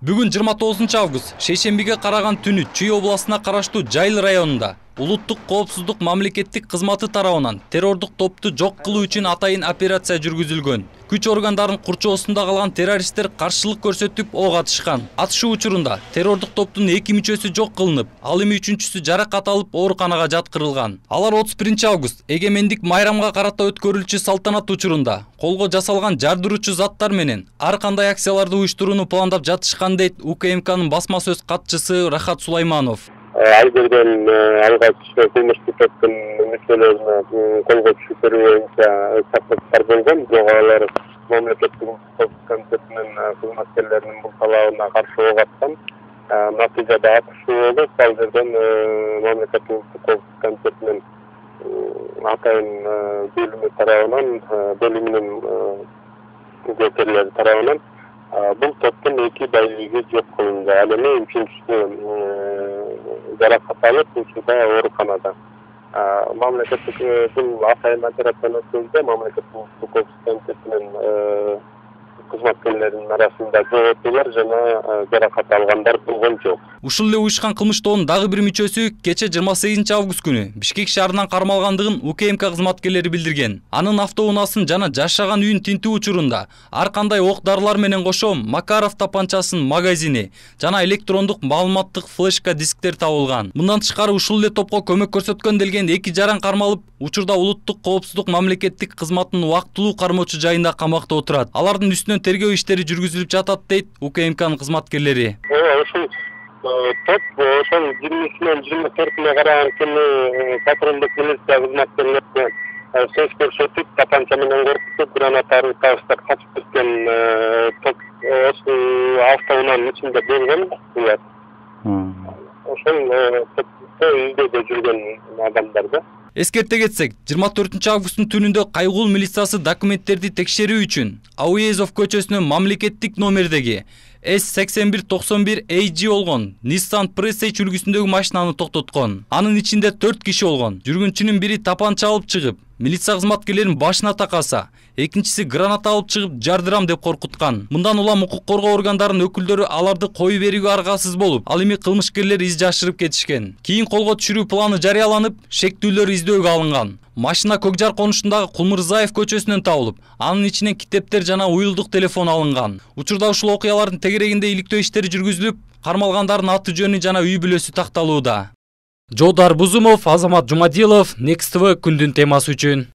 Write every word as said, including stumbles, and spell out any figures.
Бүгүн жыйырма тогузунчу август шейшембиге караган түнү Чүй областына караштуу Жайыл районунда улуттук коопсуздук мамлекеттик кызматы тарабынан террордук топту жок кылуу үчүн атайын операция жүргүзүлгөн. Күч органдарынын курчоосунда калган террористтер каршылык көрсөтүп ок атышкан. Атышуу учурунда террордук топтун эки мүчөсү жок кылынып, ал эми үчүнчүсү жаракат алып ооруканага жаткырылган. Алар отуз биринчи август эгемендик майрамга карата өткөрүлчү салтанат учурунда колго жасалган жардыруучу заттар менен ар кандай акцияларды уюштурууну пландап жатышкан дейт У К М К'нын басма сөз катчысы Рахат Сулайманов. Ал жерден алгач кылмыштык топтун мүчөлөрүнө колго түшүрүү боюнча чакырыктар болгон. Алар мамлекеттик комитетинин кызматкерлеринин бул талабына каршы ок аткан. Натыйжада атышуу болуп, ал жерден мамлекеттик комитетинин атайын бөлүмү тарабынан, бөлүмүнүн күзөткөрлөрү тарабынан бул топтун эки байлиги жок кылынды. Ал эми үчүнчүсү жаракат алып, учурда ооруканада. Мамлекеттик бул атайын операцияны өткөрүүдө мамлекеттик комитетинин кызматкерлеринин арасында жоопкерлер жана жаракат алгандар болгон жок. Ушул эле уюшкан кылмыштоонун дагы бир мүчөсү кече жыйырма сегизинчи август күнү Бишкек шаарынан кармалгандыгын У К М К кызматкерлери билдирген. Анын автоунаасын жана жашаган үйүн тинтүү учурунда ар кандай ок-дарылар менен кошо Макаров тапанчасынын магазини жана электрондук маалыматтык флешка дисктер табылган. Мындан тышкары ушул эле топко көмөк көрсөткөн делген эки жаран кармалып, учурда улуттук коопсуздук мамлекеттик кызматынын убактылуу кармоочу жайында камакта отурат. Алардын үстүнөн тергөө иштери жүргүзүлүп жатат дейт У К М К'нын кызматкерлери. Ошол топ ошол жыйырмасынан жыйырма төртүнө караган күнү патрулдук милиция кызматкерлерине сөз көрсөтүп, тапанча менен коркутуп, граната табыштап качып кеткен топ ошол автоунаанын ичинде болгон булар. Ошол топто издөөдө жүргөн адамдар да. Эскерте кетсек, жыйырма төртүнчү августтун түнүндө Кайгул милициясы документтерди текшерүү үчүн Ауезов көчөсүнөн мамлекеттик номердеги С сексен бир токсон бир А G болгон Nissan Prestige үлгүсүндөгү машинаны токтоткон. Анын ичинде төрт киши болгон. Жүргүнчүнүн бири тапанча алып чыгып, милиция кызматкерлеринин башына такаса, экинчиси граната алып чыгып жардырам деп коркуткан. Мындан улам укук коргоо органдарынын өкүлдөрү аларды коюу берүүгө аргасыз болуп, ал эми кылмышкерлер из жашырып кетишкен. Кийин колго түшүрүү планы жарыяланып, шектүүлөр издөөгө алынган. Машина Көкжар конушундагы Кулмурзаев көчөсүнөн табылып, анын ичинен китептер жана уюлдук телефон алынган. Учурда ушул окуялардын тегерегинде иликтөө иштери жүргүзүлүп, кармалгандардын аты жөнү жана үй бүлөсү такталууда. Жодар Бузумов, Азамат Жумадилов, Next T V күндүн темасы үчүн.